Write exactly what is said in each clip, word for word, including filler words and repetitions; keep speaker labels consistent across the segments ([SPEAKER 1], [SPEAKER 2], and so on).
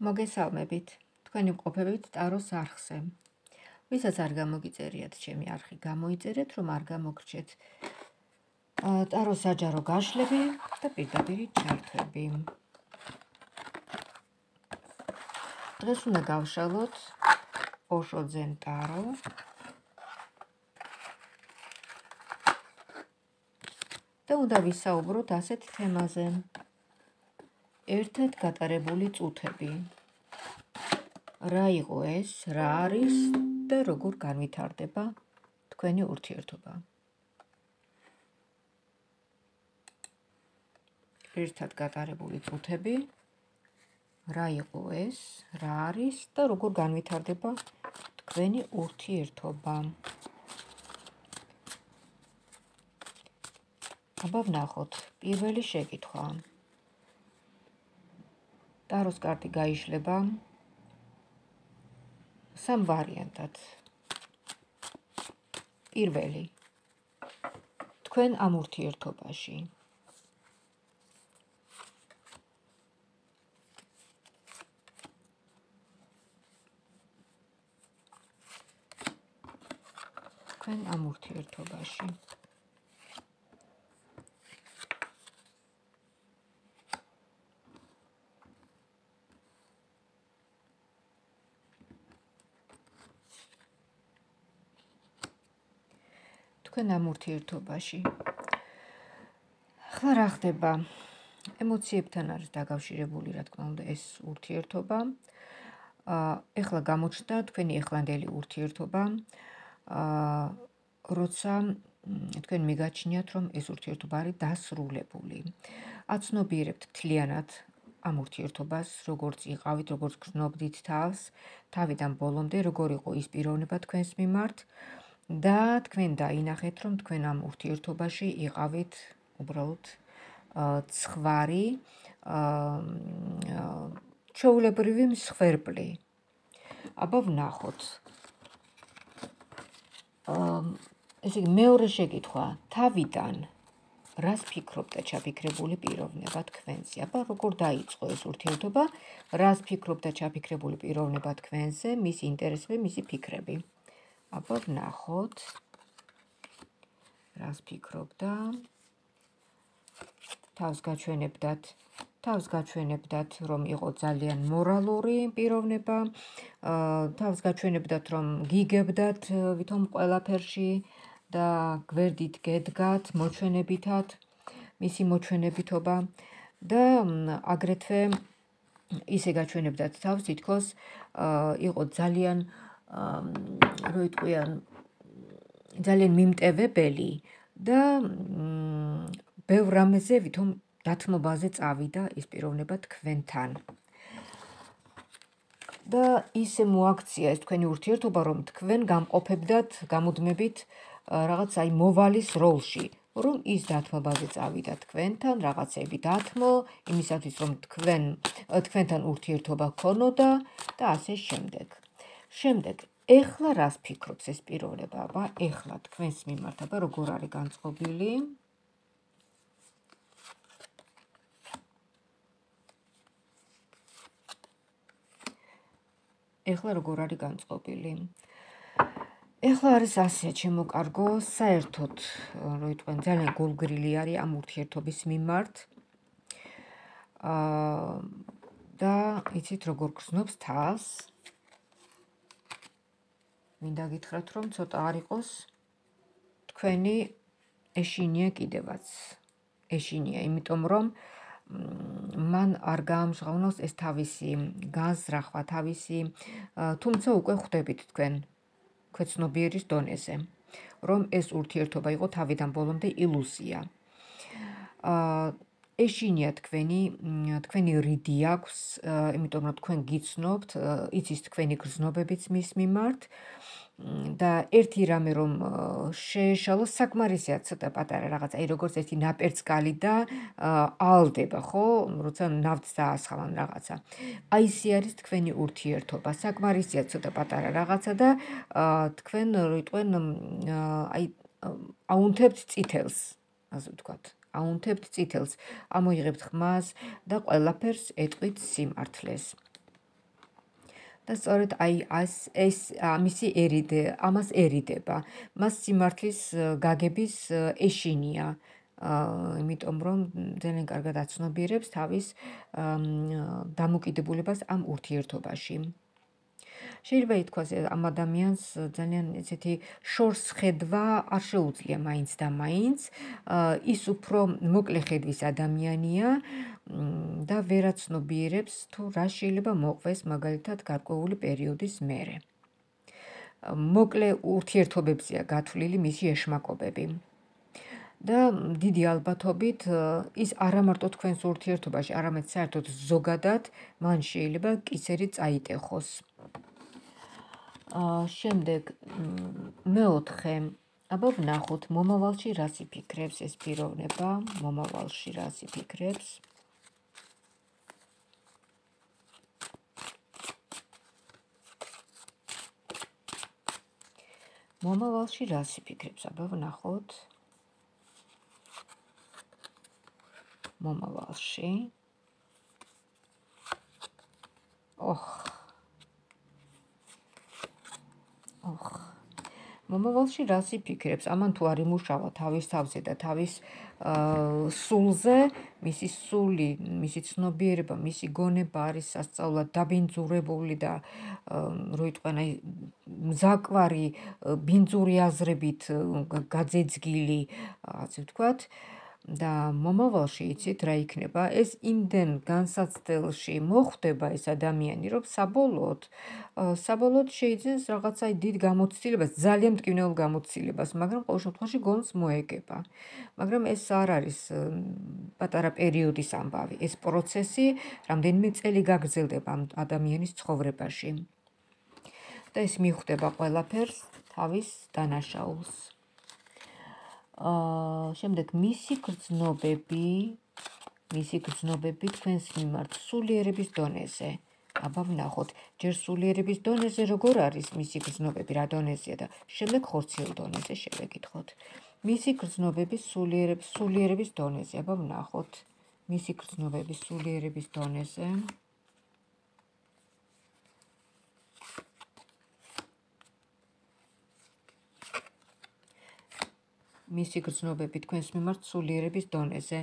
[SPEAKER 1] მოგესალმებით. თქვენი მყოფებით ტაროს არხზე. ვისაც არ გამოგიწერიათ ჩემი არხი, გამოიწერეთ, რომ არ გამოგრჩეთ ტაროს საჯარო გაშლები და პირდაპირი ჩართვები. დღეს უნდა გავშალოთ ოშო ძენ ტარო. და უნდა ვისაუბროთ ასეთ თემაზე. ერთად გატარებული წუთები. რა იყო ეს, რა არის და როგორ განვითარდება თქვენი ურთიერთობა. ერთად გატარებული წუთები. რა იყო ეს, რა არის და როგორ განვითარდება თქვენი ურთიერთობა. აბა ვნახოთ, პირველი შეკითხვა. ტაროს კარტი გაიშლება სამ ვარიანტად. პირველი, თქვენ ამ ურთიერთობაში. თქვენ ამ ურთიერთობაში. თქვენ ამ ურთიერთობაში. ახლა რა ხდება? ემოციებთან არის დაკავშირებული, რა თქმა უნდა, ეს ურთიერთობა. ახლა გამოჩნდა თქვენი ეხლანდელი ურთიერთობა, როცა თქვენ მიგაჩნიათ, რომ ეს ურთიერთობა არის დასრულებული. აცნობიერებთ მთლიანად ამ ურთიერთობას, როგორც იყავით, როგორც გრძნობდით თავს, თავიდან ბოლომდე, როგორ იყო ის პიროვნება თქვენს მიმართ. და თქვენ დაინახეთ, რომ თქვენ ამ ურთიერთობაში იყავით უბრალოდ ცხვარი, ჩვეულებრივი მსხვერპლი. აბა ვნახოთ. ესე იგი, მეორე შეკითხვა, თავიდან რას ფიქრობთ და ჩაფიქრებული პიროვნება თქვენზე? აბა როგორ დაიწყო ეს ურთიერთობა? რას ფიქრობთ და ჩაფიქრებული პიროვნება თქვენზე, მისი ინტერესები, მისი ფიქრები? აბა ვნახოთ, რას ფიქრობდა. თავს გაჩვენებდათ, თავს გაჩვენებდათ, რომ იყო ძალიან მორალური პიროვნება, თავს გაჩვენებდათ, რომ გიგებდათ ვითომ ყველაფერში და გვერდით გედგათ მოჩვენებითად, მისი მოჩვენებითობა და აგრეთვე ისე გაჩვენებდათ თავს, თითქოს იყო ძალიან რო იტყვიან, ძალიან მიმტევებელი და ბევრ რამეზე ვითომ დათმობაზე წავიდა ეს პიროვნება თქვენთან. და ისე მოაქცია ეს თქვენი ურთიერთობა, რომ თქვენ გამყოფებდათ, გამუდმებით რაღაც აი მოვალის როლში, რომ ის დათმობაზე წავიდა თქვენთან, რაღაცები დათმო, იმისათვის, რომ თქვენ თქვენთან ურთიერთობა ქონოდა და ასე შემდეგ. შემდეგ, ეხლა რას ფიქრობს ეს პიროვნება? აბა, ეხლა თქვენს მიმართ, აბა როგორ არის განწყობილი? ეხლა როგორ არის განწყობილი? ეხლა არის ასე, ჩემო კარგო, საერთოდ, რო იტყვიან, ძალიან გულგრილი არის ამ ურთიერთობის მიმართ. და იცით, როგორ გრძნობს თავს. მინდა გითხრათ, რომ ცოტა არ იყოს თქვენი ეშინია კიდევაც. ეშინია, იმიტომ რომ მან არ გაამჟღავნოს ეს თავისი განზრახვა, თავისი, თუმცა უკვე ხვდებით თქვენ ქვეცნობიერის დონეზე, რომ ეს ურთიერთობა იყო თავიდან ბოლომდე ილუზია. ეშინია თქვენი, თქვენი რიდი აქვს, იმიტომ რომ თქვენ გიცნობთ, იცის თქვენი გრძნობებიც მის მიმართ. და ერთი რამე რომ შეეშალოს, საკმარისია ცოტა პატარა რაღაც, აი როგორც ერთი ნაპერწკალი და ალდება, ხო? როცა ნავთს დაასხამან რაღაცა. აი ისე არის თქვენი ურთიერთობა, საკმარისია ცოტა პატარა რაღაცა და თქვენ რო იტყვენ, აი აუნთებთ წითელს, ასე ვთქვათ. აუნთებთ წითელს, ამოიღებთ ხმას და ყველაფერს ეტყვით სიმართლეს. და სწორედ აი ეს ეს მისი ერიდე ამასერიდება. მას სიმართლის გაგების ეშინია. აა იმიტომ რომ ძალიან კარგად აცნობიერებს თავის დამოკიდებულებას ამ ურთიერთობაში. შეიძლება ითქვას ამ ადამიანს ძალიან ესეთი შორს ხედვა არ შეუძლია მაინც და მაინც, ის უფრო მოკლე ხედვის ადამიანია და ვერ აცნობიერებს თუ რა შეიძლება მოყვეს მაგალითად გარკვეული პერიოდის მერე. მოკლე ურთიერთობებზეა გათვლილი მისი ეშმაკობები. და დიდი ალბათობით ის არა მარტო თქვენს ურთიერთობაში, არამედ საერთოდ ზოგადად მან შეიძლება კისერი წაიტეხოს. შემდეგ მეოთხე, აბა ვნახოთ მომავალში რას იფიქრებს ეს პიროვნება, მომავალში რას იფიქრებს. მომავალში რას იფიქრებს, აბა ვნახოთ. მომავალში. ოხ. ოხ. მომავალში რას იფიქრებს? ამან თუ არ იმუშავა თავის თავზე და თავის სულზე, მისი სული, მისი ცნობიერება, მისი გონება არის სასწაულად დაბინძურებული და რო იტყვიან აი მზაკვარი ბინძური აზრებით გაძეძგილი, ასე ვთქვათ. და მომავალში იცით რა იქნება? ეს იმდენ განსაცდელში მოხვდება ეს ადამიანი, რომ საბოლოოდ საბოლოოდ შეიძინოს რაღაცა დიდ გამოცდილებას, ძალიან მტკივნეულ გამოცდილებას, მაგრამ ყოველ შემთხვევაში გონს მოეგება. მაგრამ ეს არ არის პატარა პერიოდის ამბავი, ეს პროცესი რამდენიმე წელი გაგრძელდება ამ ადამიანის ცხოვრებაში. და ეს მიხვდება ყველაფერს თავის დანაშაულს. აა შემდეგ მისი გრძნობები, მისი გრძნობები თქვენს მიმართ სულიერების დონეზე. აბა ვნახოთ, ჯერ სულიერების დონეზე როგორ არის მისი გრძნობები, რა დონეზეა და შემდეგ ხორციელ დონეზე შევეკითხოთ. მისი გრძნობები სულიერების სულიერების დონეზე, აბა ვნახოთ. მისი გრძნობები სულიერების დონეზე. მისი გრძნობები თქვენს მიმართ სულიერების დონეზე.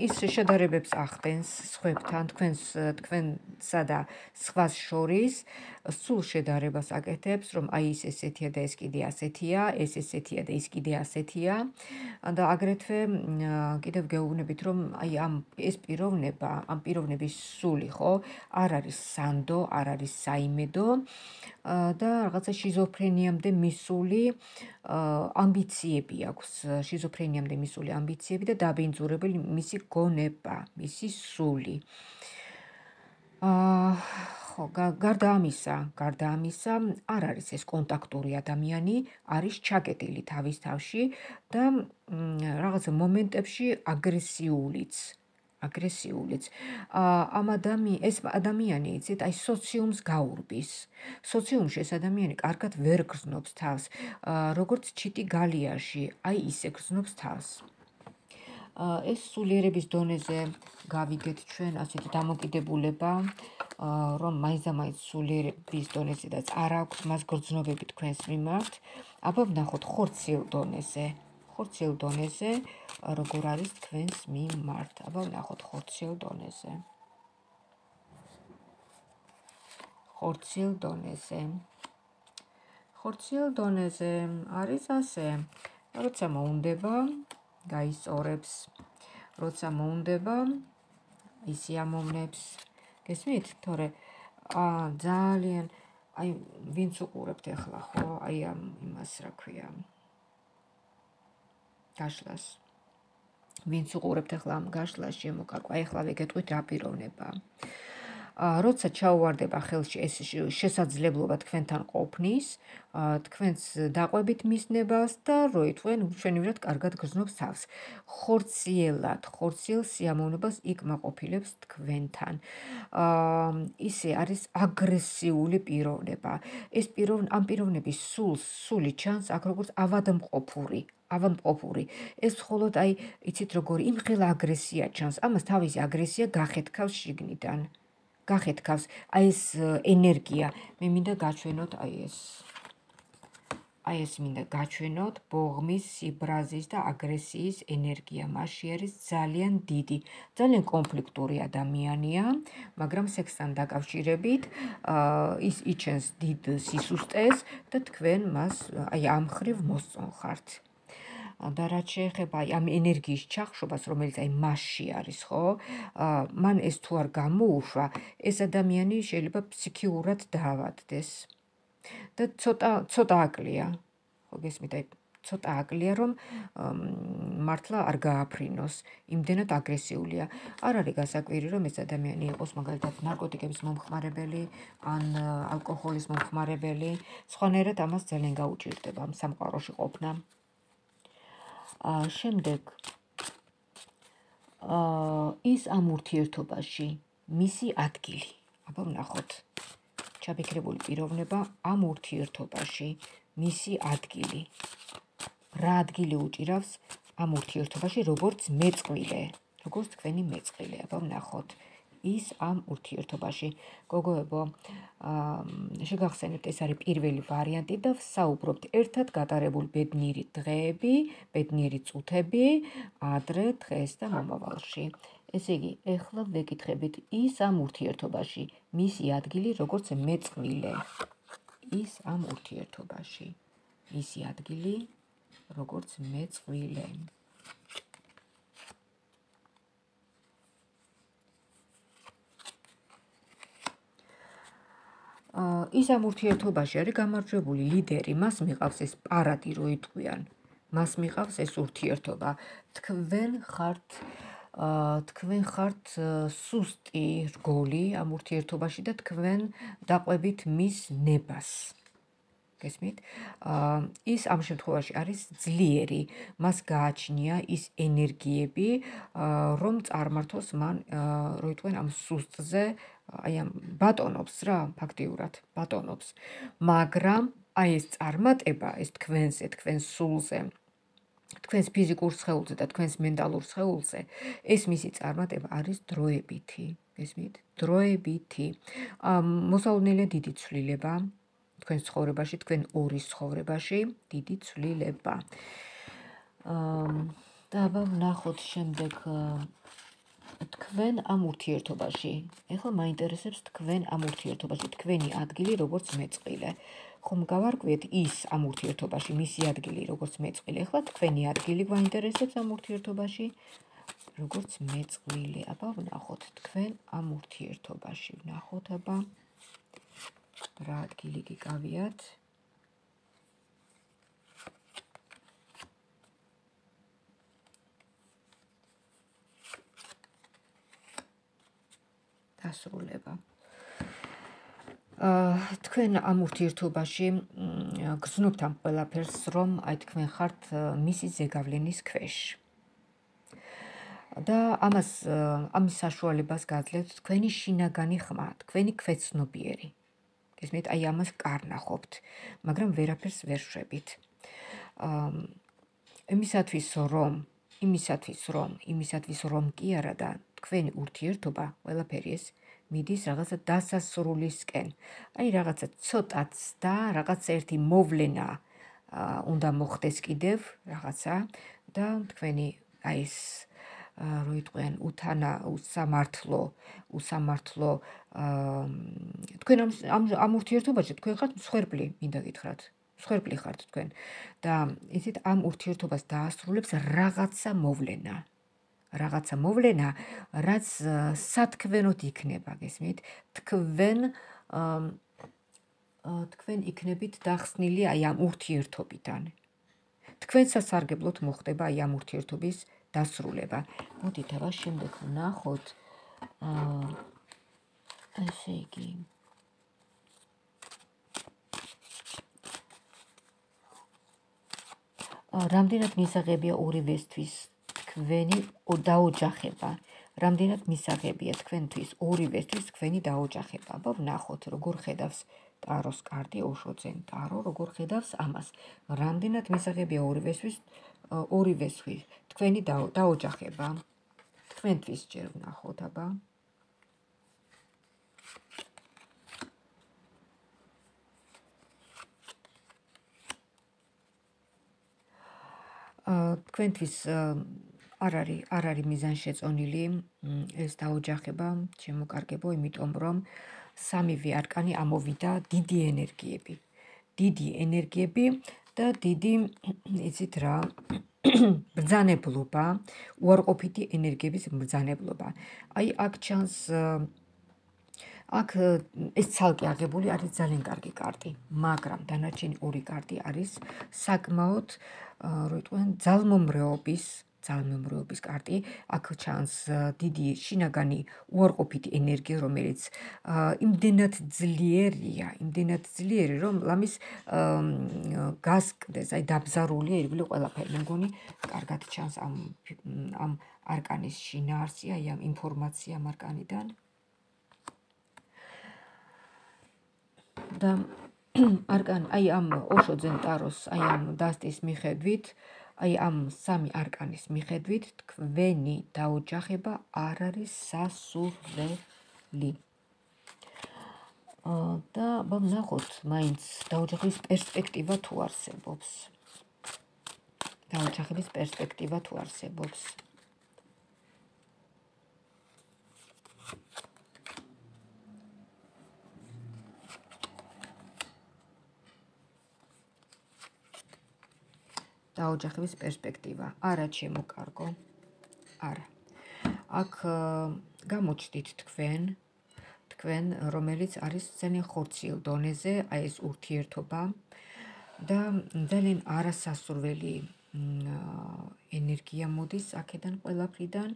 [SPEAKER 1] ის შედარებებს ახდენს სხვებთან, თქვენს თქვენსა და სხვას შორის, სულ შედარებას აკეთებს, რომ აი ის ესეთია და ეს კიდე ასეთია, ეს ესეთია და ის კიდე ასეთია. და აგრეთვე კიდევ გეუბნებით, რომ აი ამ ეს პიროვნება, ამ პიროვნების სული, ხო, არ არის სანდო, არ არის საიმედო და რაღაცა შიზოფრენიამდე მისული ამბიციები აქვს, შიზოფრენიამდე მისული ამბიციები და დაბინძურებული მისი გონება, მისი სული. აა ხო, გარდა ამისა, გარდა ამისა, არ არის ეს კონტაქტური ადამიანი, არის ჩაკეტილი თავის თავში და რაღაცა მომენტებში აგრესიულიც. აგრესიულიც. ამ ადამიანი, ეს ადამიანი, იცით, აი სოციუმს გაურბის. სოციუმში ეს ადამიანი კარგად ვერ გრძნობს თავს, როგორც ჩიტი გალიაში, აი ისე გრძნობს თავს. ეს სულიერების დონეზე გავიგეთ ჩვენ ასეთი დამოკიდებულება, რომ მაინც და მაინც სულიერების დონეზედაც არ აქვს მას გრძნობები თქვენს მიმართ. აბა ვნახოთ ხორციელ დონეზე. ხორციელ დონეზე როგორ არის თქვენს მიმართ. აბა ვნახოთ ხორციელ დონეზე. ხორციელ დონეზე. ხორციელ დონეზე არის ასე, როცა მოუნდება, გაისწორებს, როცა მოუნდება, ისიამოვნებს. გესმით? თორე ძალიან აი ვინც უყურებთ ახლა, ხო? აი ამ იმას რა ქვია? გაშლას. ვინც უყურებთ ახლა ამ გაშლას შემოკარგვა, აი ახლა ვეგეტყვით რა პიროვნებაა. როცა ჩაუვარდება ხელში ეს შესაძლებლობა თქვენთან ყოფნის, თქვენს დაყვებით მისნებას და რო ითქვენ უშენივრად კარგად გრძნობს თავს. ხორციელად, ხორციელ სიამოვნებას იკმაყოფილებს თქვენთან. ისე არის აგრესიული პიროვნება. ეს პიროვნება, ამ პიროვნების სულს, სული ჩანს აქ როგორც ავადმყოფური. ავადმყოფური. ეს მხოლოდ აი, იცით როგორი, იმხელა აგრესია ჩანს. ამას თავისი აგრესია გახეთქავს შიგნიდან. გახეთქავს აი ეს ენერგია. მე მინდა გაჩვენოთ აი ეს აი ეს მინდა გაჩვენოთ ბოღმის, სიბრაზის და აგრესიის ენერგია. მასში არის ძალიან დიდი, ძალიან კონფლიქტური ადამიანია, მაგრამ სექსთან დაკავშირებით ის იჩენს დიდ სისუსტეს და თქვენ მას აი ამ ხრივ მოსწონ ხართ. და რაც შეეხება აი ამ ენერგიის ჩახშობას, რომელიც აი მასში არის, ხო? მან ეს თუ არ გამოუშვა, ეს ადამიანი შეიძლება ფსიქიურად დაავადდეს. და ცოტა ცოტა აკლია. ხო გესმით, აი ცოტა აკლია, რომ მართლა არ გააფრინოს, იმდენად აგრესიულია. არ არის გასაკვირი, რომ ეს ადამიანი იყოს მაგალითად ნარკოტიკების მომხმარებელი, ან ალკოჰოლის მომხმარებელი, სხვანაირად ამას ძალიან გაუჭირდება ამ სამყაროში ყოფნა. შემდეგ ის ამ ურთიერთობაში, მისი ადგილი. აბა ვნახოთ. ჩაფიქრებული პიროვნება ამ ურთიერთობაში, მისი ადგილი. რა ადგილი უჭირავს ამ ურთიერთობაში, როგორც მეწყვილე, როგორც თქვენი მეწყვილე. აბა ვნახოთ. ის ამ ურთიერთობაში. გოგოებო, შეგახსენებთ, ეს არის პირველი ვარიანტი და ვსაუბრობთ ერთად გატარებული ბედნიერი დღეები, ბედნიერი წუთები, ადრე, დღეს და მომავალში. ესე იგი, ეხლა ვეკითხებით, ის ამ ურთიერთობაში, მისი ადგილი როგორც მეწყვილე. ის ამ ურთიერთობაში, მისი ადგილი როგორც მეწყვილე. ის ამ ურთიერთობაში არის გამარჯვებული ლიდერი, მას მიყავს ეს პარადი, რო იტყვიან. მას მიყავს ეს ურთიერთობა. თქვენ ხართ თქვენ ხართ სუსტი რგოლი ამ ურთიერთობაში და თქვენ დაყვებით მის ნებას. გესმით? ის ამ შემთხვევაში არის ძლიერი, მას გააჩნია ის ენერგიები, რომ წარმართოს მან, რო იტყვენ ამ სუსტზე, აი ამ ბატონობს რა, ფაქტიურად ბატონობს. მაგრამ აი ეს წარმატება, ეს თქვენზე, თქვენ სულზე, თქვენს ფიზიკურ სხეულზე და თქვენს მენტალურ სხეულზე, ეს მისი წარმატება არის დროებითი. გესმით? დროებითი. მოსალოდნელია დიდი ცვლილება თქვენ ცხოვრებაში, თქვენ ორის ცხოვრებაში, დიდი ცვლილება. და აბა ვნახოთ შემდეგ თქვენ ამ ურთიერთობაში. ეხლა მაინტერესებს თქვენ ამ ურთიერთობაში, თქვენი ადგილი როგორც მეწყვილე. ხომ გავარკვიეთ ის ამ ურთიერთობაში, მისი ადგილი როგორც მეწყვილე. ეხლა თქვენი ადგილი გვაინტერესებს ამ ურთიერთობაში, როგორც მეწყვილე. აბა ვნახოთ თქვენ ამ ურთიერთობაში. ვნახოთ აბა რა ადგილი გიკავიათ. დასრულება. თქვენ ამ ურთიერთობაში გრძნობთ ამ ყველაფერს, რომ აი თქვენ ხართ მისი ზეგავლენის ქვეშ. და ამას ამის საშუალებას გაძლევთ თქვენი შინაგანი ხმა, თქვენი ქვეცნობიერი. გესმით, აი ამას კარნახობთ, მაგრამ ვერაფერს ვერ შვებით. იმისათვის რომ, იმისათვის რომ, იმისათვის რომ კი არა და თქვენი ურთიერთობა ყველაფერი ეს მიდის რაღაცა დასასრულისკენ. აი რაღაცა ცოტაც და რაღაცა ერთი მოვლენა უნდა მოხდეს კიდევ რაღაცა და თქვენი აი ეს რო იტყვიან უთანა უსამართლო უსამართლო თქვენ ამ ამ ურთიერთობაში თქვენ ხართ მსხვერპლი, მინდა გითხრათ. მსხვერპლი ხართ თქვენ და იცით ამ ურთიერთობას დაასრულებს რაღაცა მოვლენა. რაღაცა მოვლენა, რაც სათქმენოდ იქნება, გესმით? თქვენ თქვენ იქნებით დახსნილი აი ამ ურთიერთობიდან. თქვენ სასარგებლოდ მოხდება აი ამ ურთიერთობის დასრულება. მოდით აბა შემდეგ ვნახოთ. ესე იგი რამდენად მისაღებია ორივესთვის თქვენი დაოჯახება. რამდენად მისაღებია თქვენთვის ორივესთვის თქვენი დაოჯახება. აბა ვნახოთ, როგორ ხედავს ტაროს კარტი, ოშოძენ ტარო, როგორ ხედავს ამას. რამდენად მისაღებია ორივესთვის ორივესთვის თქვენი დაოჯახება. თქვენთვის ჯერ ვნახოთ აბა. თქვენთვის არ არის არ არის მიზანშეწონილი ეს დაოჯახება, შემოკარგებო, იმიტომ რომ სამივე არკანი ამოვიდა დიდი ენერგიები. დიდი ენერგიები და დიდი, იცით რა, ბრძანებლობა, უარყოფითი ენერგიების ბრძანებლობა. აი აქ ჩანს აქ ეს ცალკე აღებული არის ძალიან კარგი კარტი, მაგრამ დანარჩენი ორი კარტი არის საკმაოდ, რო იტყვიან, ძალმომრეობის, ძალმომრეობის კარტი. აქ ჩანს დიდი შინაგანი უარყოფითი ენერგია, რომელიც იმდენად ძლიერია, იმდენად ძლიერი, რომ ლამის გასკდეს, აი დაბზარულია ირგვლივ ყველაფერი. მე მგონი, კარგად ჩანს ამ ამ არკანის შინაარსი, აი ამ ინფორმაცია ამ არკანიდან. და არკანი, აი ამ ოშო ძენ ტაროს, აი ამ დასტის მიხედვით, აი ამ სამი არკანის მიხედვით, თქვენი დაოჯახება არ არის სასურველი. და ვნახოთ, მაინც დაოჯახების პერსპექტივა თუ არსებობს. დაოჯახების პერსპექტივა თუ არსებობს. დაოჯახების პერსპექტივა. არა, ჩემო კარგო. არა. აქ გამოჩდით თქვენ, თქვენ, რომელიც არის ძალიან ხორციელ დონეზე, აი ეს ურთიერთობა და ძალიან არასასურველი ენერგია მოდის აქედან ყველაფრიდან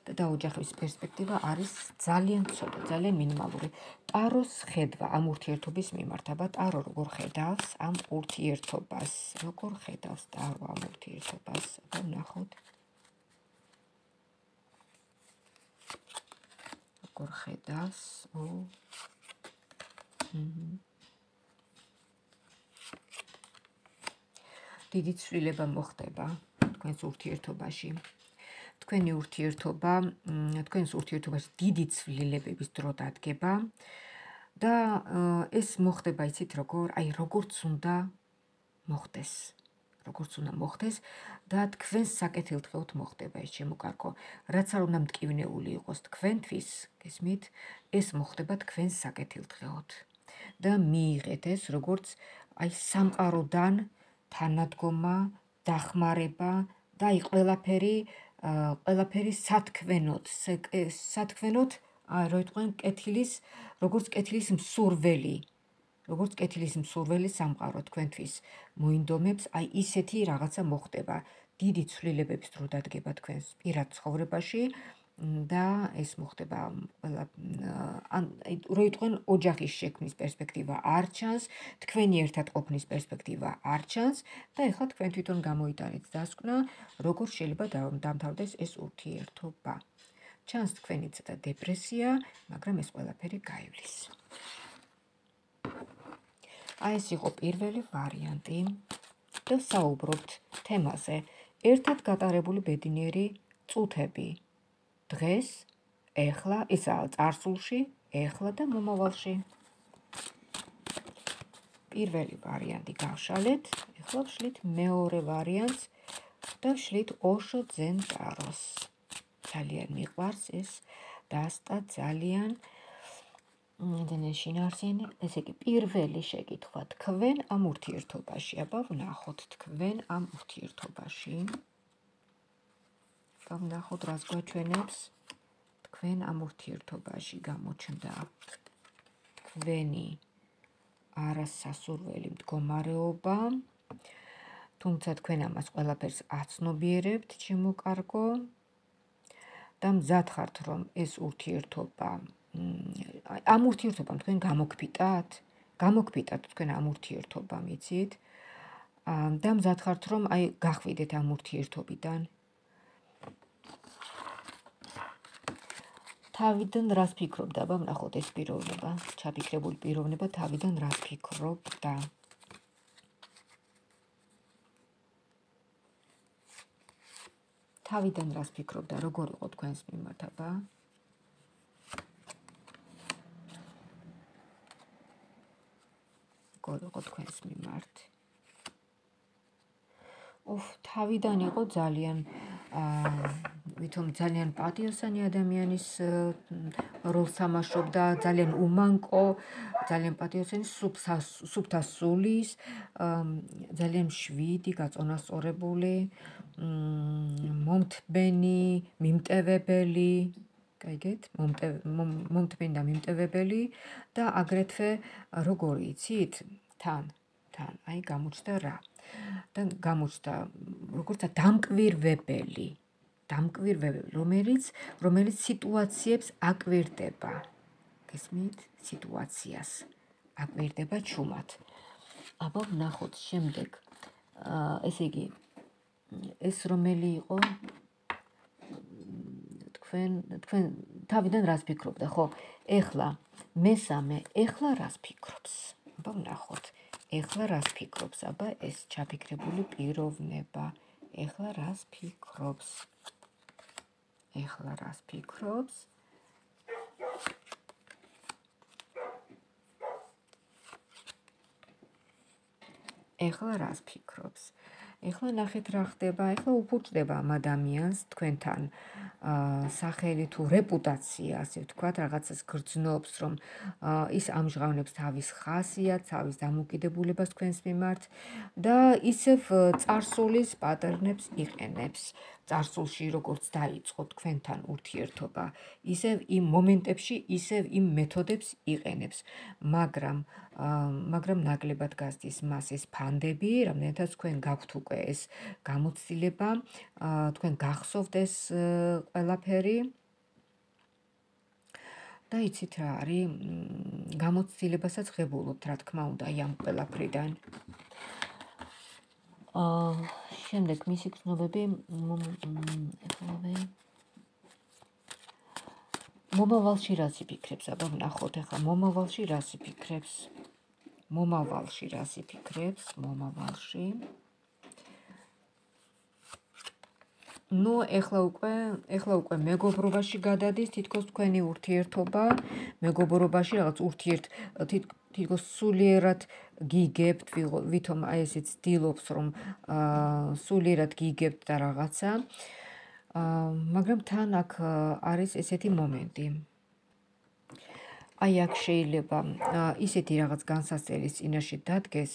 [SPEAKER 1] და დაოჯახების პერსპექტივა არის ძალიან ცოტა, ძალიან მინიმალური. ტაროს ხედვა ამ ურთიერთობის მიმართ, აბა ტარო როგორ ხედავს ამ ურთიერთობას? როგორ ხედავს ტარო ამ ურთიერთობას? აბა ვნახოთ. როგორ ხედავს? ო. დიდი ცვლილება მოხდება თქვენს ურთიერთობაში. თქვენი ურთიერთობა, თქვენს ურთიერთობაში დიდი ცვლილებების დრო დადგება და ეს მოხდება, იცით როგორ, აი როგორც უნდა მოხდეს. როგორც უნდა მოხდეს და თქვენს საკეთილდღეოდ მოხდება ეს, ჩემო კარგო. რაც არ უნდა მტკივნეული იყოს თქვენთვის, გესმით, ეს მოხდება თქვენს საკეთილდღეოდ. და მიიღეთ ეს როგორც აი სამყაროდან თანადგომა, დახმარება და აი ყველაფერი ყველაფერი სათქმენოდ, სათქმენოდ, რო იტყვიან, კეთილის, როგორც კეთილის მსურველი, როგორც კეთილის მსურველი სამყარო თქვენთვის მოინდომებს, აი ისეთი რაღაცა მოხდება. დიდი ცვლილებების დრო დადგება თქვენს პირად ცხოვრებაში და ეს მოხდება ყველა, რო იტყვიან, ოჯახის შექმნის პერსპექტივა არ ჩანს, თქვენი ერთად ყოფნის პერსპექტივა არ ჩანს და ეხლა თქვენ თვითონ გამოიტანეთ დასკვნა, როგორ შეიძლება დამთავრდეს ეს ურთიერთობა. ჩანს თქვენი ცოტა დეპრესია, მაგრამ ეს ყველაფერი გაივლის. აი ეს იყო პირველი ვარიანტი და საუბრობთ თემაზე. ერთად გატარებული ბედნიერი წუთები. დღეს, ეხლა, ისაა წარსულში, ეხლა და მომავალში. პირველი ვარიანტი გავშალეთ, ეხლა ვშლით მეორე ვარიანტს და ვშლით ოშო ძენ ტაროს. ძალიან მიყვარს ეს დასტა, ძალიან ძალიან შინაარსიანი. ესე იგი, პირველი შეკითხვა, თქვენ ამ ურთიერთობაში, აბა ვნახოთ თქვენ ამ ურთიერთობაში. აბა ვნახოთ, რას გვაჩვენებს თქვენ ამ ურთიერთობაში გამოჩნდა თქვენი არასასურველი მდგომარეობა, თუმცა თქვენ ამას ყველაფერს აცნობიერებთ, ჩემო კარგო, და მზად ხართ, რომ ეს ურთიერთობა, ამ ურთიერთობამ თქვენ გამოგფიტათ, გამოგფიტათ თქვენ ამ ურთიერთობამ, იცით? და მზად ხართ, რომ აი გახვიდეთ ამ ურთიერთობიდან. თავიდან რას ფიქრობდა, აბა ვნახოთ ეს პიროვნება, ჩაფიქრებული პიროვნება თავიდან რას ფიქრობდა. თავიდან რას ფიქრობდა, როგორ იყო თქვენს მიმართ, აბა? როგორ იყო თქვენს მიმართ? ოფ, თავიდან იყო ძალიან ვითომ ძალიან პატიოსანი ადამიანის როლს თამაშობდა, ძალიან უმანკო, ძალიან პატიოსანი, სუფთა სულის, ძალიან მშვიდი, გაწონასწორებული, მომთბენი, მიმტევებელი, გაიგეთ, მომთბენი და მიმტევებელი და აგრეთვე როგორი იცით, თან, თან, აი გამოჩნდა რა. და გამოჩნდა როგორც დამკვირვებელი, დამკვირვებელი, რომელიც რომელიც სიტუაციებს აკვირდება. გესმით? სიტუაციას აკვირდება ჩუმად. აბა ვნახოთ შემდეგ. ესე იგი, ეს რომელი იყო? თქვენ თქვენ თავიდან რას ფიქრობდა, ხო? ეხლა მესამე, ეხლა რას ფიქრობს? აბა ვნახოთ. ეხლა რას ფიქრობს? აბა ეს ჩაფიქრებული პიროვნება. ეხლა რას ფიქრობს? ეხლა რას ფიქრობს? ეხლა რას ფიქრობს? ეხლა ნახეთ რა ხდება, ეხლა უფუჭდება ამ ადამიანს თქვენთან სახელი თუ რეპუტაცია, ასე ვთქვათ, რაღაცას გრძნობს, რომ ის ამჟღავნებს თავის ხასიათს, თავის დამოკიდებულებას თქვენს მიმართ და ისევ წარსულის პატერნებს იყენებს. წარსულში როგორც დაიწყო თქვენთან ურთიერთობა, ისევ იმ მომენტებში, ისევ იმ მეთოდებს იყენებს, მაგრამ მაგრამ ნაკლებად გასდის მას ეს ფანდები, რამდენადაც თქვენ გაქვთ უკვე ეს გამოცდილება, თქვენ გახსოვთ ეს ყველაფერი და იცით რა არის, გამოცდილებასაც ღებულობთ, რა თქმა უნდა, ამ ყველაფრიდან. შემდეგ მისი გრძნობები მომავალში რას იფიქრებს? აბა ვნახოთ ახლა მომავალში რას იფიქრებს? მომავალში რას იფიქრებს? მომავალში. ნუ ეხლა უკვე, ეხლა უკვე მეგობრობაში გადადის თითქოს თქვენი ურთიერთობა, მეგობრობაში რაღაც ურთიერთ თითქოს სულიერად გიგებთ, ვითომ აი ესე ცდილობს, რომ სულიერად გიგებთ და რაღაცა. მაგრამ თან აქ არის ესეთი მომენტი. აი აქ შეიძლება ისეთი რაღაც განსაცდელის წინაშე დადგეს,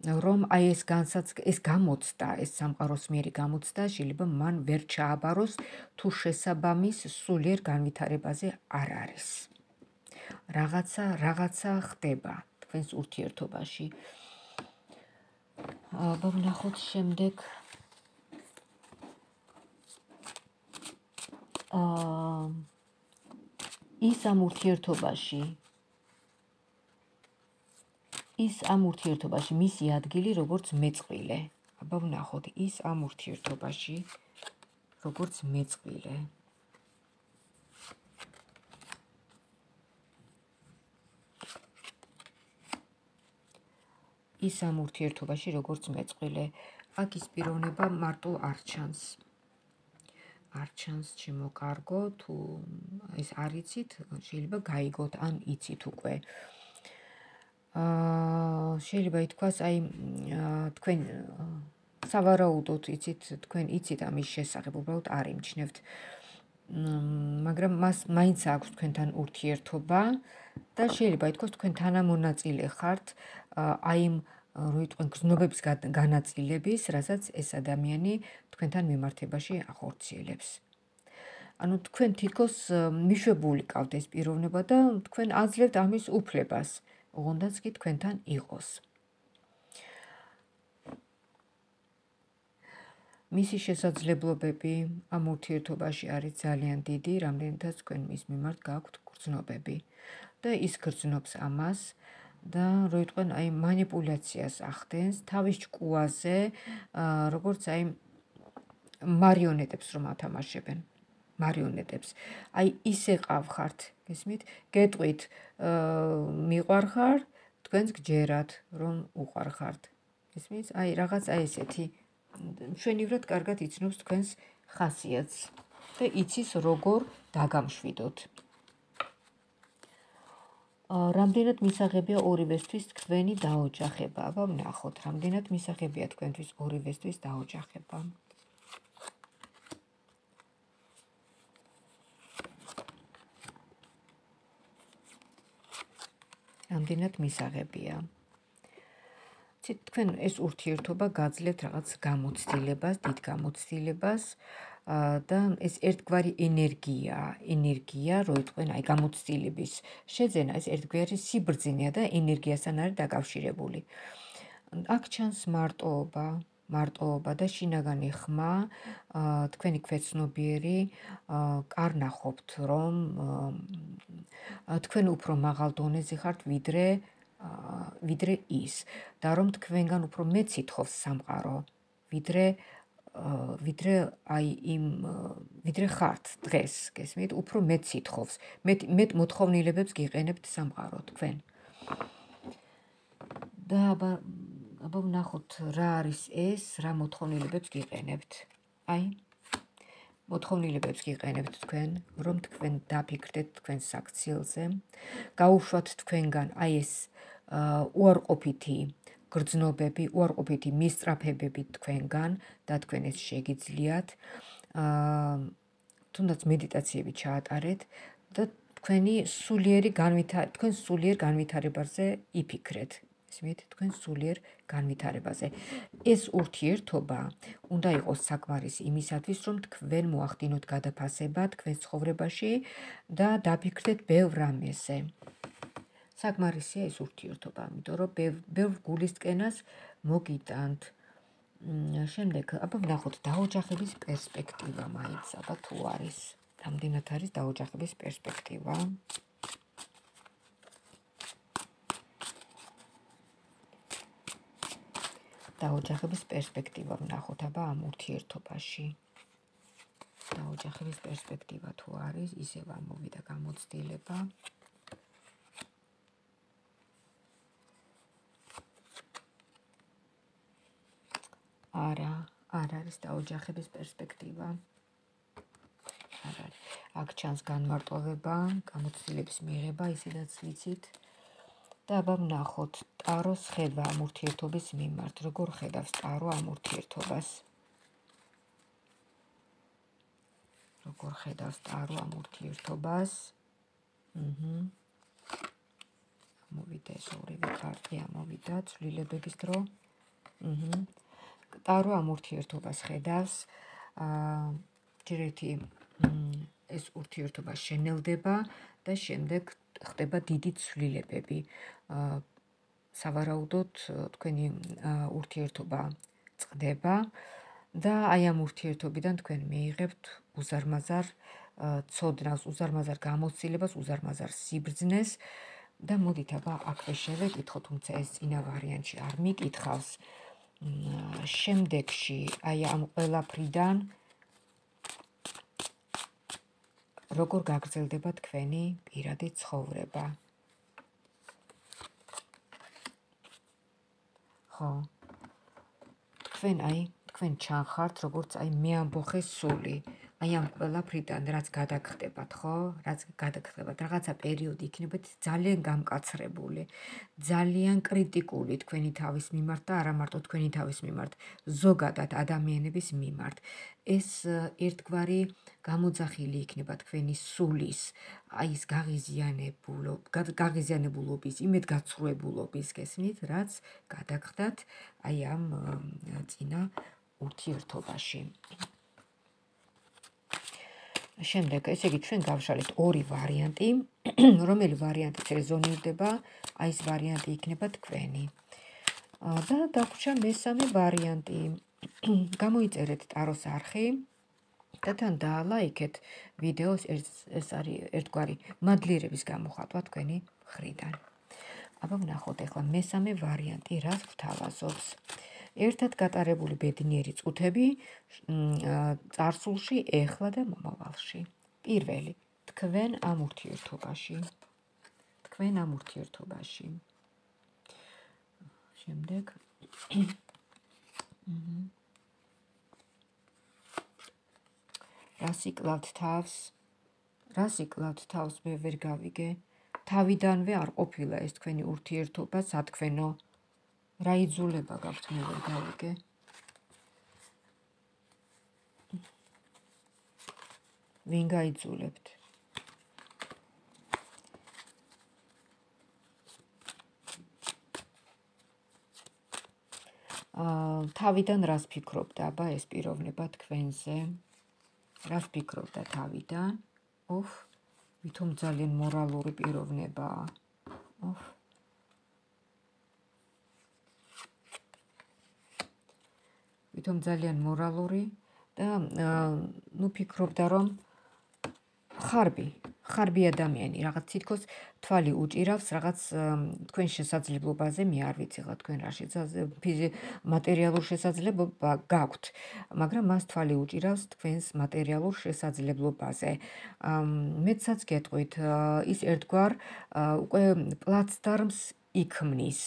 [SPEAKER 1] რომ აი ეს ეს გამოცდა, ეს სამყაროს მიერი გამოცდა შეიძლება მან ვერ ჩააბაროს, თუ შესაბამის სულიერ განვითარებაზე არ არის. რაღაცა, რაღაცა ხდება თქვენს ურთიერთობაში. აბა ვნახოთ შემდეგ. ის ამ ურთიერთობაში ის ამ ურთიერთობაში მისი ადგილი როგორც მეწყვილე. აბა ვნახოთ, ის ამ ურთიერთობაში როგორც მეწყვილე. ის ამ ურთიერთობაში როგორც მეწყვილე. აქ ის პიროვნება მარტო არ ჩანს. არ ჩანს ჩემო კარგო, თუ ეს არ იცით, შეიძლება გაიგოთ, ან იცით უკვე. შეიძლება ითქვას, აი თქვენ სავარაუდოდ იცით, თქვენ იცით ამის შესახებ, უბრალოდ არ იმჩნევთ. მაგრამ მას მაინც აქვს თქვენთან ურთიერთობა და შეიძლება ითქვას, თქვენ თანამონაწილე ხართ აი იმ როიტყვენ გრძნობების განაწილების, რასაც ეს ადამიანი თქვენთან მიმართებაში ახორციელებს. ანუ თქვენ თითქოს მიშვებული ყავთ ეს პიროვნება და თქვენ აძლევთ ამის უფლებას, ოღონდაც კი თქვენთან იყოს. მისი შესაძლებლობები ამ ურთიერთობაში არის ძალიან დიდი, რამდენადაც თქვენ მის მიმართ გაქვთ გრძნობები და ის გრძნობს ამას და როიტყვენ აი მანიპულაციას ახდენს თავის ჭკუაზე, როგორც აი მარიონეტებს რომ ათამაშებენ, მარიონეტებს. აი ისე ყავხართ, გესმით? გეტყვით, მიყვარხარ, თქვენს გჯერათ, რომ უყვარხართ. გესმით? აი რაღაც აი ესეთი მშვენივრად კარგად იცნობს თქვენს ხასიათს და იცის როგორ დაგამშვიდოთ. რამდენად მისაღებია ორივესთვის თქვენი დაოჯახება? აბა ვნახოთ, რამდენად მისაღებია თქვენთვის ორივესთვის დაოჯახება. რამდენად მისაღებია. თქვენ ეს ურთიერთობა გაძლევთ რაღაც გამოცდილებას, დიდ გამოცდილებას და ეს ერთგვარი ენერგია, ენერგია, რო იყვენ აი გამოცდილების შეძენა, ეს ერთგვარი სიბრძნეა და ენერგიასთან არის დაკავშირებული. აქ ჩანს მარტოობა, მარტოობა და შინაგანი ხმა, თქვენი ქვეცნობიერი კარ ნახობთ, რომ თქვენ უფრო მაღალ დონეზე ხართ ვიდრე ვიდრე ის და რომ თქვენგან უფრო მეტ სითხოვს სამყარო, ვიდრე ვიდრე აი იმ ვიდრე ხართ დღეს, გესმით, უფრო მეტ სითხოვს, მეტ მეტ მოთხოვნილებებს გიყენებთ სამყარო თქვენ. და აბა აბა ვნახოთ რა არის ეს, რა მოთხოვნილებებს გიყენებთ. აი მოთხოვნილებებს გიყენებთ თქვენ, რომ თქვენ დაფიქრდეთ თქვენ საქციელზე, გაუშვათ თქვენგან აი ეს უარყოფითი გრძნობები, უარყოფითი მისწრაფებები თქვენგან და თქვენ ეს შეგიძლიათ, თუნდაც მედიტაციები ჩაატარეთ და თქვენი სულიერი განვითარება, თქვენ სულიერ განვითარებაზე იფიქრეთ. ისმით, თქვენ სულიერ განვითარებაზე. ეს ურთიერთობა უნდა იყოს საკმარისი იმისათვის, რომ თქვენ მოახდინოთ გადაფასება თქვენ ცხოვრებაში და დაფიქრდეთ ბევრ რამეზე. საკმარისია ეს ურთიერთობა, იმიტომ რომ ბევრ გულისწყენას მოგიტანთ. შემდეგ, აბა ვნახოთ დაოჯახების პერსპექტივა მაინც, აბა თუ არის, რამდენად არის დაოჯახების პერსპექტივა. დაოჯახების პერსპექტივა ვნახოთ, აბა ამ ურთიერთობაში. დაოჯახების პერსპექტივა თუ არის, ისევ ამოვიდა გამოცდილება. არა, არ არის დაოჯახების პერსპექტივა. არ არის. აქ ჩანს განმარტოვება, გამოცდილების მიღება, ისედაც ვიცით. და აბა ვნახოთ ტაროს ხედვა ამ ურთიერთობის მიმართ, როგორ ხედავს ტარო ამ ურთიერთობას. როგორ ხედავს ტარო ამ ურთიერთობას. აჰა. მოვიდა ეს ორივე კარტი, ამოვიდა ცვლილებების დრო. აჰა. ტარო ამ ურთიერთობას ხედავს, ჯერ ერთი ეს ურთიერთობა შენელდება და შემდეგ ხდება დიდი ცვლილებები. სავარაუდოდ თქვენი ურთიერთობა წყდება და აი ამ ურთიერთობიდან თქვენ მიიღებთ უზარმაზარ ცოდნას, უზარმაზარ გამოცდილებას, უზარმაზარ სიბრძნეს და მოდით აბა აქვე შევეკითხოთ, თუმცა ეს წინა ვარიანტში არ მიკითხავს. შემდეგში აი ამ ყველაფრიდან როგორ გაგრძელდება თქვენი პირადი ცხოვრება. ხო. თქვენ აი თქვენ ჩანხართ, როგორც აი მე ამბოხე სული. აი ამ ყველაფრიდან რაც გადაგხდებათ, ხო? რაც გადაგხდებათ, რაღაცა პერიოდი იქნებათ ძალიან გამკაცრებული, ძალიან კრიტიკული თქვენი თავის მიმართ და არა მარტო თქვენი თავის მიმართ, ზოგადად ადამიანების მიმართ. ეს ერთგვარი გამოძახილი იქნება თქვენი სულის, აი ეს გაღიზიანებულობის, იმედგაცრუებულობის, გესმით, რაც გადაგხდათ აი ამ წინა ურთიერთობაში. შემდეგ, ესე იგი, ჩვენ გავშალეთ ორი ვარიანტი, რომელი ვარიანტიც რეზონირდება, აი ეს ვარიანტი იქნება თქვენი. და დაგვრჩა მესამე ვარიანტი. გამოიწერეთ ტაროს არხი და თან დაალაიქეთ ვიდეოს, ეს არის ერთგვარი მადლიერების გამოხატვა თქვენი მხრიდან. აბა ვნახოთ ახლა მესამე ვარიანტი რას გვთავაზობს. ერთად გატარებული ბედნიერი წუთები წარსულში, ეხლა და მომავალში. პირველი, თქვენ ამ ურთიერთობაში. თქვენ ამ ურთიერთობაში. შემდეგ რას იკლავთ თავს? რას იკლავთ თავს? მე ვერ გავიგე. თავიდანვე არ ყოფილა ეს თქვენი ურთიერთობა სათქვენო. რა იძულება გაქვთ, მე ვერ გავიგე. ვინ გაიძულებთ? თავიდან რას ფიქრობდა აბა ეს პიროვნება თქვენზე? რას ფიქრობდა თავიდან? ოხ, ვითომ ძალიან მორალური პიროვნებაა. ოხ. ვითომ ძალიან მორალური და ნუ ფიქრობდა რომ ხარბი, ხარბი ადამიანი, რაღაც თითქოს თვალი უჭირავს რაღაც თქვენ შესაძლებლობაზე, მე არ ვიცი რა თქვენ რა მატერიალურ შესაძლებლობა გაქვთ, მაგრამ მას თვალი უჭირავს თქვენს მატერიალურ შესაძლებლობაზე. მეცაც გეტყვით, ის ერთგვარ უკვე პლაცდარმს იქმნის.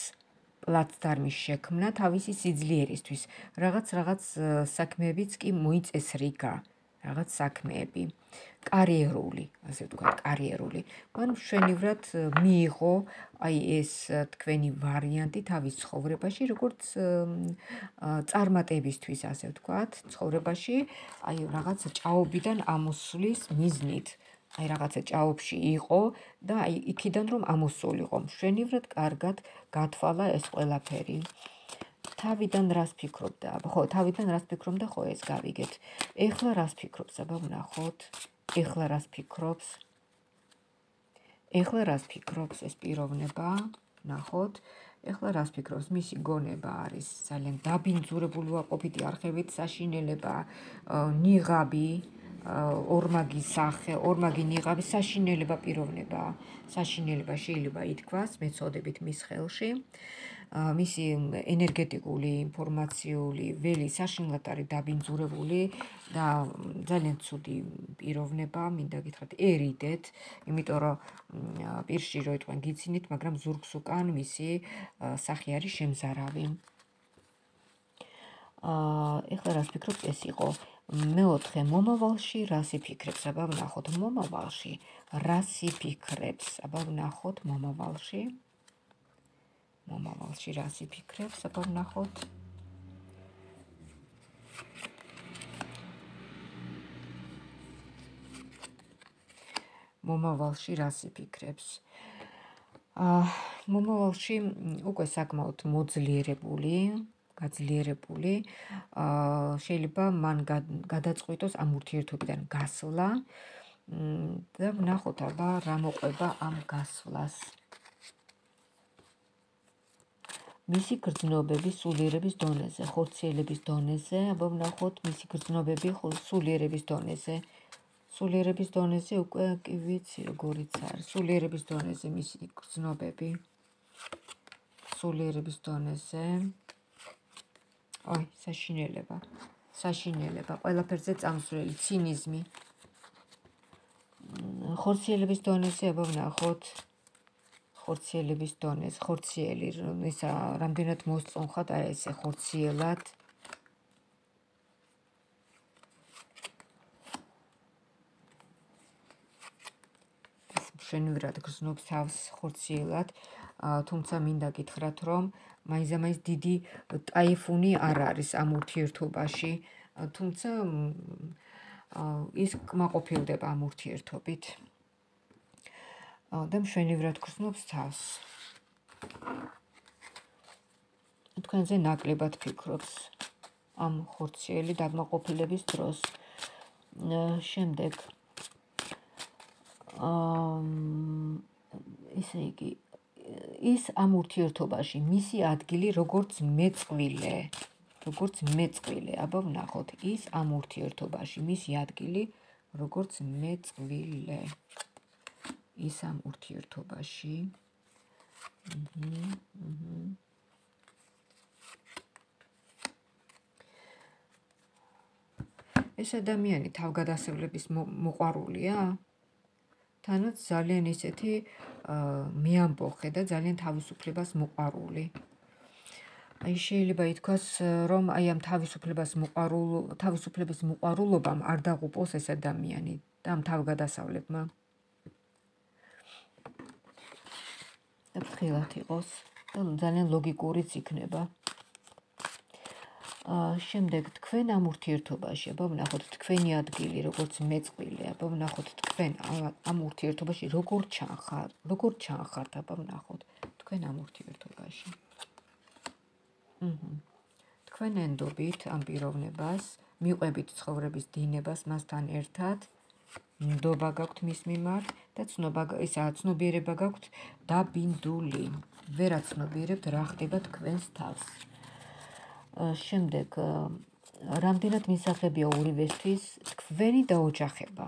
[SPEAKER 1] პლაცდარმის შექმნა თავისი სიძლიერისთვის. რაღაც რაღაც საქმეებიც კი მოიწესრიგა, რაღაც საქმეები. კარიერული, ასე ვთქვათ, კარიერული. მან მშვენივრად მიიღო აი ეს თქვენი ვარიანტი თავის ცხოვრებაში, როგორც წარმატებისთვის, ასე ვთქვათ, ცხოვრებაში, აი რაღაც ჭაობიდან ამოსვლის მიზნით. აი რაღაცა ჭაობში იყო და აი იქიდან რომ ამოსულიყო, მშვენივრად კარგად გათვალა ეს ყველაფერი. თავიდან რას ფიქრობდა? ხო, თავიდან რას ფიქრობდა, ხო ეს გავიგეთ. ეხლა რას ფიქრობს, აბა ვნახოთ. ეხლა რას ფიქრობს? ეხლა რას ფიქრობს ეს პიროვნება? ნახოთ. ეხლა რას ფიქრობს? მისი გონება არის ძალიან დაბინძურებული უარყოფითი არხებით, საშინელება, ნიღაბი, ორმაგი სახე, ორმაგი ნიღაბი, საშინელება პიროვნებაა. საშინელება შეიძლება ითქვას, მეცოდებით მის ხელში. მისი ენერგეტიკული, ინფორმაციული ველი საშინლად არის დაბინძურებული და ძალიან ცუდი პიროვნება, მინდა გითხრათ, ერიდეთ, იმიტომ რომ პირში რო იტყვენ გიცინით, მაგრამ ზურგს უკან მისი სახე არის შემზარავი. ეხლა რას ფიქრობს, ეს იყო მეოთხე მომავალში რას იფიქრებს? აბა ვნახოთ მომავალში. რას იფიქრებს? აბა ვნახოთ მომავალში. მომავალში რას იფიქრებს? აბა ვნახოთ. მომავალში რას იფიქრებს? მომავალში უკვე საკმაოდ მოძლიერებული, გაძლიერებული, შეიძლება მან გადაწყვიტოს ამ ურთიერთობიდან გასვლა და ვნახოთ აბა რა მოყვება ამ გასვლას. მისი გრძნობები სულიერების დონეზე, ხორციელების დონეზე, აბა ვნახოთ მისი გრძნობები სულიერების დონეზე. სულიერების დონეზე უკვე კი ვიცი როგორიც არის. სულიერების დონეზე მისი გრძნობები. სულიერების დონეზე. აი, საშინელება. საშინელება, ყველაფერზე წამსვლელი, ცინიზმი. ხორციელების დონეზე, აბა ვნახოთ. ხორციელების დონეზე, ხორციელი, ისა რამდენად მოსწონხათ აი ესე ხორციელად. მშვენივრად გრძნობს თავს ხორციელად, თუმცა მინდა გითხრათ, რომ მაინცდამაინც დიდი ტაიფუნი არ არის ამ ურთიერთობაში, თუმცა ის კმაყოფილდება ამ ურთიერთობით. და მშვენივრად გრძნობს თავს. თქვენზე ნაკლებად ფიქრობს ამ ხორციელი დაკმაყოფილების დროს. შემდეგ ისე იგი ის ამ ურთიერთობაში მისი ადგილი როგორც მეწყვილე, როგორც მეწყვილე, აბა ვნახოთ, ის ამ ურთიერთობაში მისი ადგილი როგორც მეწყვილე. ის ამ ურთიერთობაში. ეს ადამიანი თავგადასავლების მოყვარულია? თანაც ძალიან ისეთი მეამბოხე და ძალიან თავისუფლებას მოყვარული. აი შეიძლება ითქვას, რომ აი ამ თავისუფლებას მოყვარულ თავისუფლების მოყვარულობამ არ დაღუპოს ეს ადამიანი და ამ თავგადასავლებმა. და ფრთხილად იყოს და ძალიან ლოგიკურიც იქნება. შემდეგ თქვენ ამ ურთიერთობაში, აბა ვნახოთ თქვენი ადგილი როგორც მეწყვილე, აბა ვნახოთ თქვენ ამ ურთიერთობაში როგორ ჩანხართ, როგორ ჩანხართ, აბა ვნახოთ თქვენ ამ ურთიერთობაში. თქვენ ენდობით ამ პიროვნებას, მიყვებით ცხოვრების დინებას მასთან ერთად, ნდობა გაქვთ მის მიმართ და ცნობა ისა ცნობიერება გაქვთ დაბინდული. ვერაცნობიერებთ რა ხდება თქვენს თავს. შემდეგ რამდენად მისაღებია ორივესთვის თქვენი დაოჯახება.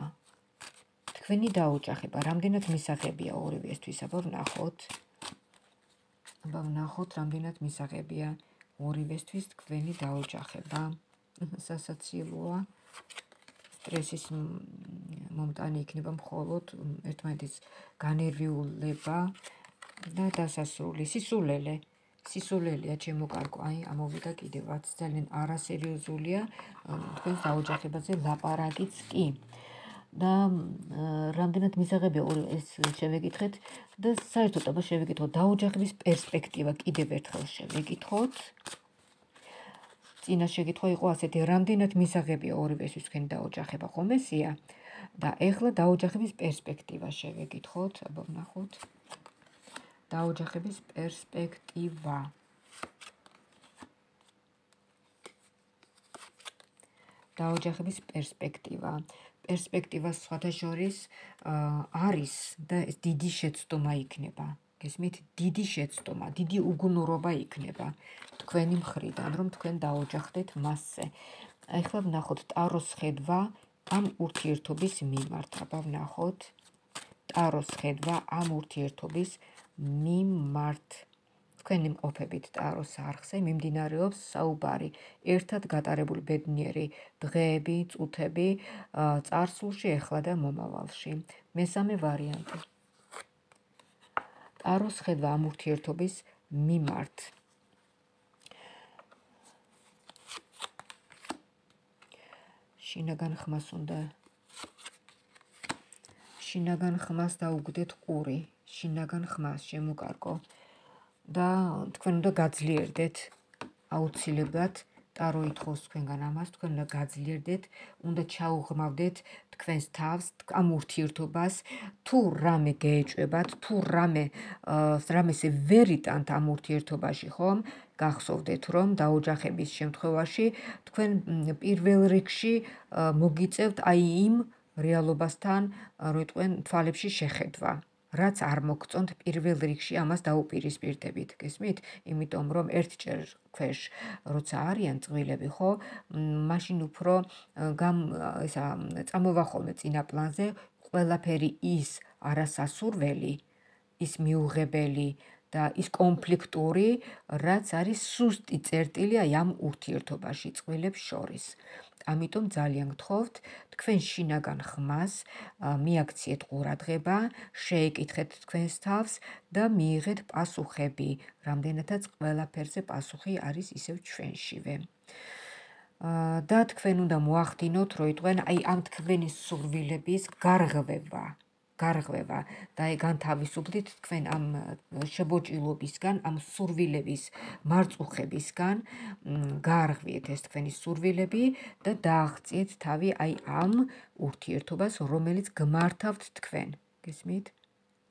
[SPEAKER 1] თქვენი დაოჯახება, რამდენად მისაღებია ორივესთვის, აბა ვნახოთ. აბა ვნახოთ, რამდენად მისაღებია ორივესთვის თქვენი დაოჯახება. სასაცილოა. სტრესის მომტანი იქნება მხოლოდ ერთმანეთის განერვიულება და დასასრული სისულელე. სისულელეა ჩემო კარგო, აი ამოვიდა კიდევაც ძალიან არასერიოზულია თქვენს დაოჯახებაზე ლაპარაკიც კი. და რამდენად მისაღებია ეს შევეკითხეთ და საერთოდ აბა შევეკითხოთ დაოჯახების პერსპექტივა კიდევ ერთხელ შევეკითხოთ. წინა შეკითხვა იყო ასეთი, რამდენად მისაღებია ორივესთვის თქვენი დაოჯახება, ხომ ესია? და ეხლა დაოჯახების პერსპექტივა შევეკითხოთ, აბა ვნახოთ. დაოჯახების პერსპექტივა. დაოჯახების პერსპექტივა. პერსპექტივას სხვათა შორის არის და ეს დიდი შეცდომა იქნება. გესმით, დიდი შეცდომა, დიდი უგუნურობა იქნება თქვენი მხრიდან, რომ თქვენ დაოჯახდეთ მასზე. ეხლა ვნახოთ ტაროს ხედვა ამ ურთიერთობის მიმართ. აბა ვნახოთ ტაროს ხედვა ამ ურთიერთობის მიმართ. თქვენი მყოფებით ტაროს არხზე მიმდინარეობს საუბარი ერთად გატარებული ბედნიერი დღეები, წუთები წარსულში, ეხლა და მომავალში. მესამე ვარიანტი. ტაროს ხედვა ამ ურთიერთობის მიმართ. შინაგან ხმას უნდა შინაგან ხმას დაუგდეთ ყური, შინაგან ხმას შემოკარგო და თქვენ უნდა გაძლიერდეთ აუცილებლად ტარო ითხოვს თქვენგან ამას, თქვენ უნდა გაძლიერდეთ, უნდა ჩაუღრმავდეთ თქვენს თავს, ამ ურთიერთობას, თუ რამე გეეჭვებათ, თუ რამე რამესე ვერ იტანთ ამ ურთიერთობაში, ხომ? გახსოვდეთ, რომ დაოჯახების შემთხვევაში თქვენ პირველ რიგში მოგიწევთ აი იმ რეალობასთან, როიტყვენ თვალებში შეხედვა. რაც არ მოგწონთ პირველ რიგში ამას დაუპირისპირდებით, გესმით? იმიტომ რომ ერთჯერ ქვეშ როცა არიან წყვილები, ხო, მაშინ უფრო ისა წამოვა ხოლმე წინა პლანზე ყველაფერი ის არასასურველი, ის მიუღებელი და ის კონფლიქტური, რაც არის სუსტი წერტილი აი ამ ურთიერთობაში წყვილებს შორის. ამიტომ ძალიან გთხოვთ, თქვენ შინაგან ხმას მიაქციეთ ყურადღება, შეეკითხეთ თქვენს თავს და მიიღეთ პასუხები, რამდენადაც ყველაფერზე პასუხი არის ისევ ჩვენშივე. და თქვენ უნდა მოახდინოთ, როიტყვენ აი ამ თქვენი სურვილების გარღვევა. გარღვევა და განთავისუფლდით თქვენ ამ შებოჭილობისგან, ამ სურვილების მარწუხებისგან, გაარღვიეთ ეს თქვენი სურვილები და დააღწიეთ თავი აი ამ ურთიერთობას, რომელიც გმართავთ თქვენ. გესმით?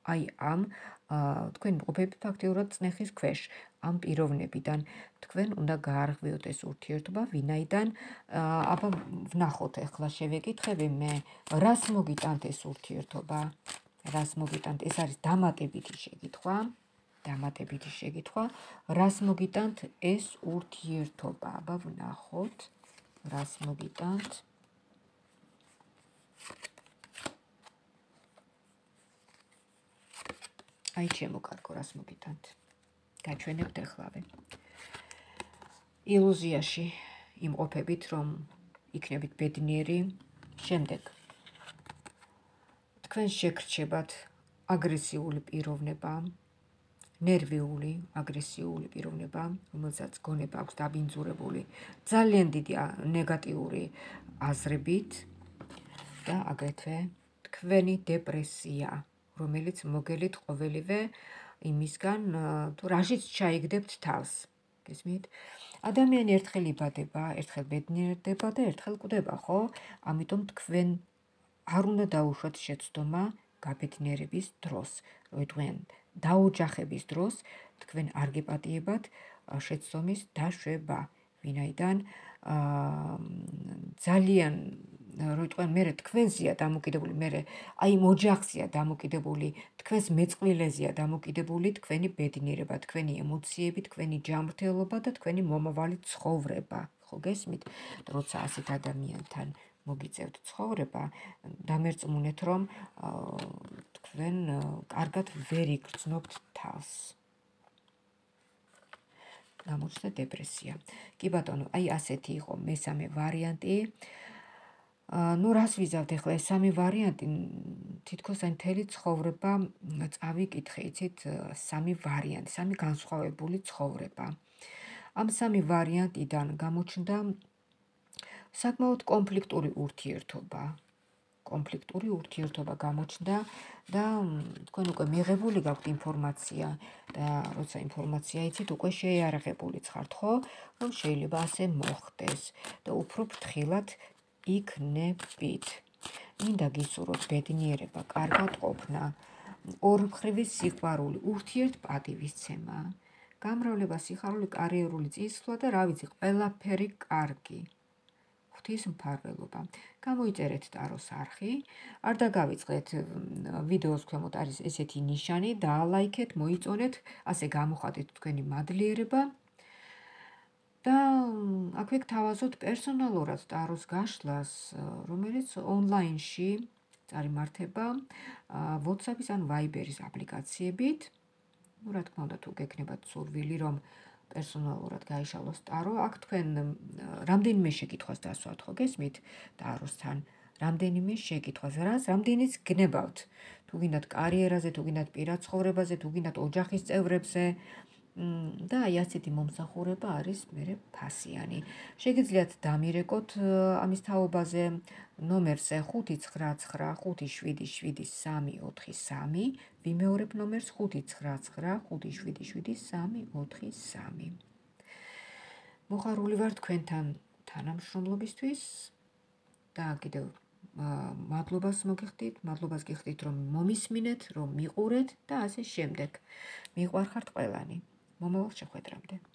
[SPEAKER 1] აი ამ თქვენ მყოფებით ფაქტიურად წნეხის ქვეშ, ამ პიროვნებიდან. თქვენ უნდა გაარღვიოთ ეს ურთიერთობა, ვინაიდან აბა ვნახოთ ეხლა შევეკითხები მე, რას მოგიტანთ ეს ურთიერთობა? რას მოგიტანთ? ეს არის დამატებითი შეკითხვა. დამატებითი შეკითხვა. რას მოგიტანთ ეს ურთიერთობა? აბა ვნახოთ, რას მოგიტანთ? აი ჩემო კარგო, რას მოგიტანთ? გაჩვენებთ ეხლავე. ილუზიაში იმყოფებით, რომ იქნებით ბედნიერი. შემდეგ თქვენ შეგრჩებათ აგრესიული პიროვნება, ნერვიული, აგრესიული პიროვნება, რომელსაც გონება აქვს დაბინძურებული, ძალიან დიდი ნეგატიური აზრებით და აგრეთვე თქვენი დეპრესია, რომელიც მოგელით ყოველივე იმისგან, თუ რაშიც ჩაიგდებთ თავს. გესმით? ადამიანი ერთხელ იბადება, ერთხელ ბედნიერდება და ერთხელ კვდება, ხო? ამიტომ თქვენ არ უნდა დაუშვათ შეცდომა გაბედნიერების დროს. როიტყვიან დაოჯახების დროს თქვენ არ გეპატიებათ შეცდომის დაშვება, ვინაიდან ძალიან როიტყვიან მერე თქვენზეა დამოკიდებული, მერე აი იმ ოჯახზეა დამოკიდებული, თქვენს მეწყვილეზეა დამოკიდებული თქვენი ბედნიერება, თქვენი ემოციები, თქვენი ჯანმრთელობა და თქვენი მომავალი ცხოვრება. ხო გესმით? როცა ასეთ ადამიანთან მოგიწევთ ცხოვრება, დამერწმუნეთ, რომ თქვენ კარგად ვერ იგრძნობთ თავს. გამოჩნდა დეპრესია. კი ბატონო, აი ასეთი იყო მესამე ვარიანტი. ნუ რას ვიზავთ ახლა ეს სამი ვარიანტი, თითქოს აი მთელი ცხოვრება წავიკითხე, იცით, სამი ვარიანტი, სამი განსხვავებული ცხოვრება. ამ სამი ვარიანტიდან გამოჩნდა საკმაოდ კონფლიქტური ურთიერთობა. კონფლიქტური ურთიერთობა გამოჩნდა და თქვენ უკვე მიღებული გაქვთ ინფორმაცია და როცა ინფორმაცია იცით, უკვე შეიარაღებულიც ხართ, ხო? რომ შეიძლება ასე მოხდეს და უფრო ფრთხილად იქნებით. მინდა გისურვოთ ბედნიერება, კარგად ყოფნა, ორმხრივი სიყვარული, ურთიერთპატივისცემა, გამრავლება, სიხარული, კარიერული წინსვლა და რა ვიცი, ყველაფერი კარგი. ღვთის მფარველობა. გამოიწერეთ ტაროს არხი, არ დაგავიწყდეთ ვიდეოს ქვემოთ არის ესეთი ნიშანი, დაალაიქეთ, მოიწონეთ, ასე გამოხატეთ თქვენი მადლიერება და აქვე გთავაზობთ პერსონალურად ტაროს გაშლას, რომელიც ონლაინში წარიმართება WhatsApp-ის ან Viber-ის აპლიკაციებით. ნუ რა თქმა უნდა, თუ გექნებათ სურვილი, რომ პერსონალურად გაიშალოს ტარო, აქ თქვენ რამდენიმე შეკითხვას დასვათ, ხო გესმით? ტაროსთან რამდენიმე შეკითხვას, რაც რამდენიც გნებავთ. თუ გინდათ კარიერაზე, თუ გინდათ პირად ცხოვრებაზე, თუ გინდათ ოჯახის წევრებზე და აი ასეთი მომსახურება არის მერე ფასიანი. შეგიძლიათ დამირეკოთ ამის თაობაზე ნომერზე ხუთი ცხრა ცხრა ხუთი შვიდი შვიდი სამი ოთხი სამი, ვიმეორებ ნომერს ხუთი ცხრა ცხრა ხუთი შვიდი შვიდი სამი ოთხი სამი. მოხარული ვარ თქვენთან თანამშრომლობისთვის და კიდევ მადლობას მოგიხდით, მადლობას გიხდით, რომ მომისმინეთ, რომ მიყურეთ და ასე შემდეგ. მიყვარხართ ყველანი. მომავალ შეხვედრამდე.